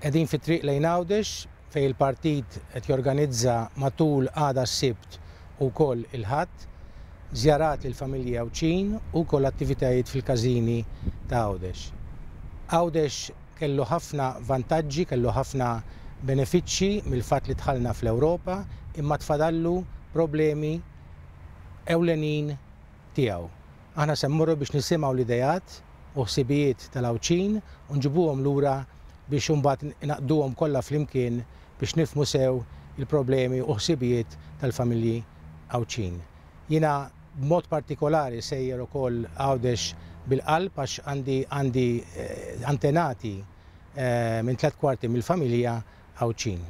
Qegħdin fit-triq lejn Għawdex fejn il-partit qed jorganizza matul għada s-Sibt u wkoll il-Ħadd żjarat lil familji Għawdxin u wkoll attivitajiet fil-każini ta' Għawdex. Għawdex kellu ħafna vantaġġi, kellu ħafna benefiċċji mill-fatt li dħalna fl-Ewropa imma tfadallu problemi ewlenin tiegħu. Aħna se mmorru biex nisimgħu l-ideat u ħsibijiet tal-Għawdxin u nġibuhom lura biex imbagħad ngħaqqduhom kollha flimkien biex nifhmu sew il-problemi u ħsibijiet tal-familji Għawdxin. Jiena b'mod partikolari sejjer ukoll Għawdex bil-qalb għax għandi għandi antenati minn tlett kwarti mill-familja Għawdxin.